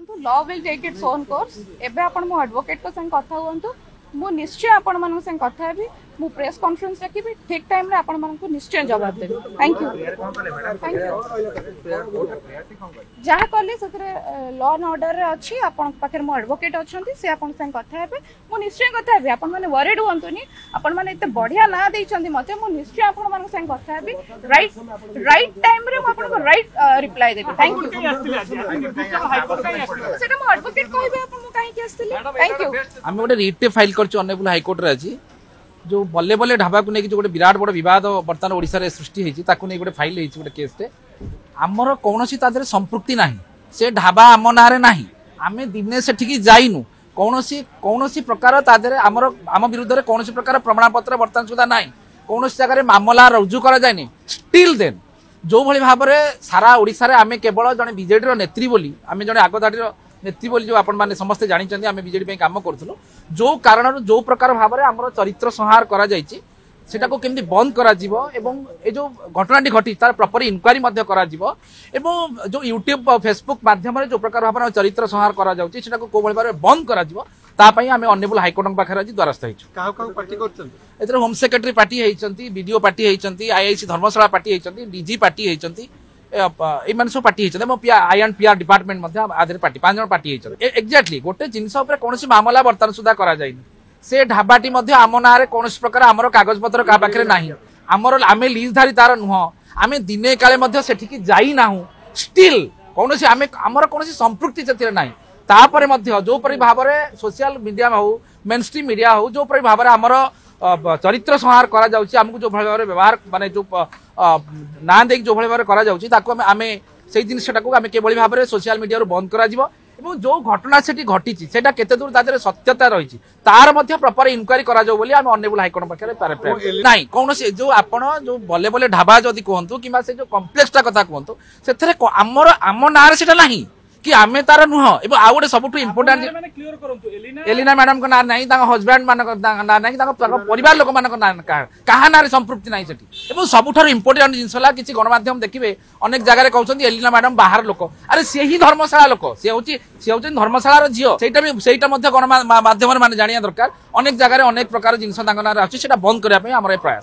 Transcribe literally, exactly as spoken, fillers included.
Law will take its own course. ଏବେ ଆପଣ ମୋ ଆଡଭୋକେଟଙ୍କ ସାଙ୍ଗେ କଥା ହୁଅନ୍ତୁ। ମୁଁ ନିଶ୍ଚୟ ଆପଣମାନଙ୍କ ସାଙ୍ଗେ କଥା ହେବି। ମୁଁ ପ୍ରେସ୍ କନଫରେନ୍ସ ଡାକିବି, ଠିକ୍ ଟାଇମ୍ରେ ଆପଣମାନଙ୍କୁ ନିଶ୍ଚୟ ଜବାବ ଦେବି। Thank you, thank you. ଯାହା କଲି ସେଥିରେ ଲ ଆଣ୍ଡ ଅର୍ଡରରେ ଅଛି। ଆପଣଙ୍କ ପାଖରେ ମୋ ଆଡଭୋକେଟ୍ ଅଛନ୍ତି, ସେ ଆପଣଙ୍କ ସାଙ୍ଗେ କଥା ହେବେ। ମୁଁ ନିଶ୍ଚୟ କଥା ହେବି, ଆପଣମାନେ ୱରିଡ୍ ହୁଅନ୍ତୁନି। ଆପଣମାନେ ଏତେ ବଢିଆ ନାଁ ଦେଇଛନ୍ତି ମତେ। ମୁଁ ନିଶ୍ଚୟ ଆପଣମାନଙ୍କ ସାଙ୍ଗେ କଥା ହେବି। ରାଇଟ୍ ରାଇଟ୍ ଟାଇମ୍ରେ ମୁଁ ଆପଣଙ୍କୁ ରାଇଟ୍ ରିପ୍ଲାଏ ଦେବି। Thank you. ସେଟା ମୋ ଆଡଭୋକେଟ୍ କହିବେ ଆପଣ ମୁଁ କାହିଁକି ଆସିଥିଲି। Thank you. ଆମେ ଗୋଟେ ରିଟ୍ ଫାଇଲ୍ କରିଛୁ ଅନରେବୁଲ ହାଇକୋର୍ଟରେ ଆଜି। ଯୋଉ ବଲେ ବଲେ ଢାବାକୁ ନେଇକି ଯୋଉ ଗୋଟେ ବିରାଟ ବଡ଼ ବିବାଦ ବର୍ତ୍ତମାନ ଓଡ଼ିଶାରେ ସୃଷ୍ଟି ହେଇଛି, ତାକୁ ନେଇ ଗୋଟେ ଫାଇଲ୍ ହେଇଛି ଗୋଟେ କେସ୍ଟେ। ଆମର କୌଣସି ତା ଦେହରେ ସମ୍ପୃକ୍ତି ନାହିଁ। ସେ ଢାବା ଆମ ନାଁରେ ନାହିଁ। ଆମେ ଦିନେ ସେଠିକି ଯାଇନୁ। କୌଣସି କୌଣସି ପ୍ରକାର ତା ଦେହରେ ଆମର ଆମ ବିରୁଦ୍ଧରେ କୌଣସି ପ୍ରକାର ପ୍ରମାଣପତ୍ର ବର୍ତ୍ତମାନ ସୁଦ୍ଧା ନାହିଁ। କୌଣସି ଜାଗାରେ ମାମଲା ରୁଜୁ କରାଯାଇନି। ଷ୍ଟିଲ୍ ଦେନ୍ ଯୋଉଭଳି ଭାବରେ ସାରା ଓଡ଼ିଶାରେ ଆମେ କେବଳ ଜଣେ ବିଜେଡିର ନେତ୍ରୀ ବୋଲି, ଆମେ ଜଣେ ଆଗଧାଡ଼ିର ନେତ୍ରୀ ବୋଲି ଯୋଉ ଆପଣମାନେ ସମସ୍ତେ ଜାଣିଛନ୍ତି, ଆମେ ବିଜେଡି ପାଇଁ କାମ କରୁଥିଲୁ, ଯୋଉ କାରଣରୁ ଯୋଉ ପ୍ରକାର ଭାବରେ ଆମର ଚରିତ୍ର ସଂହାର କରାଯାଇଛି, ସେଟାକୁ କେମିତି ବନ୍ଦ କରାଯିବ ଏବଂ ଏ ଯୋଉ ଘଟଣାଟି ଘଟିଛି ତାର ପ୍ରପର ଇନକ୍ୱାରି ମଧ୍ୟ କରାଯିବ ଏବଂ ଯୋଉ ୟୁଟ୍ୟୁବ, ଫେସବୁକ୍ ମାଧ୍ୟମରେ ଯୋଉ ପ୍ରକାର ଭାବରେ ଆମ ଚରିତ୍ର ସଂହାର କରାଯାଉଛି, ସେଟାକୁ କୋଉଭଳି ଭାବରେ ବନ୍ଦ କରାଯିବ, ତା ପାଇଁ ଆମେ ଅନରେବୁଲ ହାଇକୋର୍ଟଙ୍କ ପାଖରେ ଆଜି ଦ୍ୱାରସ୍ଥ ହେଇଛୁ। କାହାକୁ କାହାକୁ ପାର୍ଟି କରୁଛନ୍ତି? ଏଥିରେ ହୋମ ସେକ୍ରେଟାରୀ ପାର୍ଟି ହେଇଛନ୍ତି, ବିଡିଓ ପାର୍ଟି ହେଇଛନ୍ତି, ଆଇଆଇସି ଧର୍ମଶାଳା ପାର୍ଟି ହେଇଛନ୍ତି, ଡିଜି ପାର୍ଟି ହେଇଛନ୍ତି, ଏମାନେ ସବୁ ପାର୍ଟି ହେଇଛନ୍ତି ଏବଂ I and PR department ମଧ୍ୟ ଆଦେହରେ ପାର୍ଟି। ପାଞ୍ଚ ଜଣ ପାର୍ଟି ହେଇଛନ୍ତି। ଏକ୍ଜାକ୍ଟଲି ଗୋଟେ ଜିନିଷ ଉପରେ କୌଣସି ମାମଲା ବର୍ତ୍ତମାନ ସୁଦ୍ଧା କରାଯାଇନି। ସେ ଢାବାଟି ମଧ୍ୟ ଆମ ନାଁରେ କୌଣସି ପ୍ରକାର ଆମର କାଗଜପତ୍ର କାହା ପାଖରେ ନାହିଁ। ଆମର ଆମେ ଲିଜଧାରୀ ତାର ନୁହଁ। ଆମେ ଦିନେ କାଳେ ମଧ୍ୟ ସେଠିକି ଯାଇନାହୁଁ। ଷ୍ଟିଲ୍ କୌଣସି ଆମେ ଆମର କୌଣସି ସମ୍ପୃକ୍ତି ସେଥିରେ ନାହିଁ। ତାପରେ ମଧ୍ୟ ଯୋଉପରି ଭାବରେ ସୋସିଆଲ ମିଡିଆ ହଉ, ମେନ୍ ଷ୍ଟ୍ରିମ୍ ମିଡିଆ ହଉ, ଯୋଉପରି ଭାବରେ ଆମର ଚରିତ୍ର ସଂହାର କରାଯାଉଛି, ଆମକୁ ଯୋଉ ଭଳି ଭାବରେ ବ୍ୟବହାର ମାନେ ଯୋଉ ନାଁ ଦେଇକି ଯୋଉ ଭଳି ଭାବରେ କରାଯାଉଛି, ତାକୁ ଆମେ ଆମେ ସେଇ ଜିନିଷଟାକୁ ଆମେ କିଭଳି ଭାବରେ ସୋସିଆଲ ମିଡିଆରୁ ବନ୍ଦ କରାଯିବ ଏବଂ ଯୋଉ ଘଟଣା ସେଠି ଘଟିଛି ସେଇଟା କେତେ ଦୂର ତା ଦେହରେ ସତ୍ୟତା ରହିଛି, ତାର ମଧ୍ୟ ପ୍ରପର ଇନକ୍ୱାରି କରାଯାଉ ବୋଲି ଆମେ ଅନରେବୁଲ ହାଇକୋର୍ଟ ପାଖରେ। ନାଇଁ, କୌଣସି ଯୋଉ ଆପଣ ଯୋଉ ବଲେ ବଲେ ଢାବା ଯଦି କୁହନ୍ତୁ କିମ୍ବା ସେ ଯୋଉ କମ୍ପ୍ଲେକ୍ସଟା କଥା କୁହନ୍ତୁ, ସେଥିରେ ଆମର ଆମ ନାଁରେ ସେଟା ନାହିଁ କି ଆମେ ତାର ନୁହଁ। ଏବଂ ଆଉ ଗୋଟେ ସବୁଠୁ ଇମ୍ପୋର୍ଟାଣ୍ଟ, ଏଲିନା ମ୍ୟାଡାମଙ୍କ ନାଁ ନାହିଁ, ତାଙ୍କ ହଜବ୍ୟାଣ୍ଡ ମାନଙ୍କ ନାଁ ନାହିଁ, ତାଙ୍କ ପରିବାର ଲୋକମାନଙ୍କ ନାଁ, କାହା ନାଁରେ ସମ୍ପୃକ୍ତି ନାହିଁ ସେଠି। ଏବଂ ସବୁଠାରୁ ଇମ୍ପୋର୍ଟାଣ୍ଟ ଜିନିଷ ହେଲା, କିଛି ଗଣମାଧ୍ୟମ ଦେଖିବେ ଅନେକ ଜାଗାରେ କହୁଛନ୍ତି ଏଲିନା ମ୍ୟାଡାମ ବାହାର ଲୋକ। ଆରେ ସେ ହିଁ ଧର୍ମଶାଳା ଲୋକ। ସେ ହଉଛି ସେ ହଉଛନ୍ତି ଧର୍ମଶାଳାର ଝିଅ। ସେଇଟା ବି ସେଇଟା ମଧ୍ୟ ଗଣମାଧ୍ୟମରେ ମାନେ ଜାଣିବା ଦରକାର। ଅନେକ ଜାଗାରେ ଅନେକ ପ୍ରକାର ଜିନିଷ ତାଙ୍କ ନାଁରେ ଆସୁଛି। ସେଇଟା ବନ୍ଦ କରିବା ପାଇଁ ଆମର ଏ ପ୍ରୟାସ।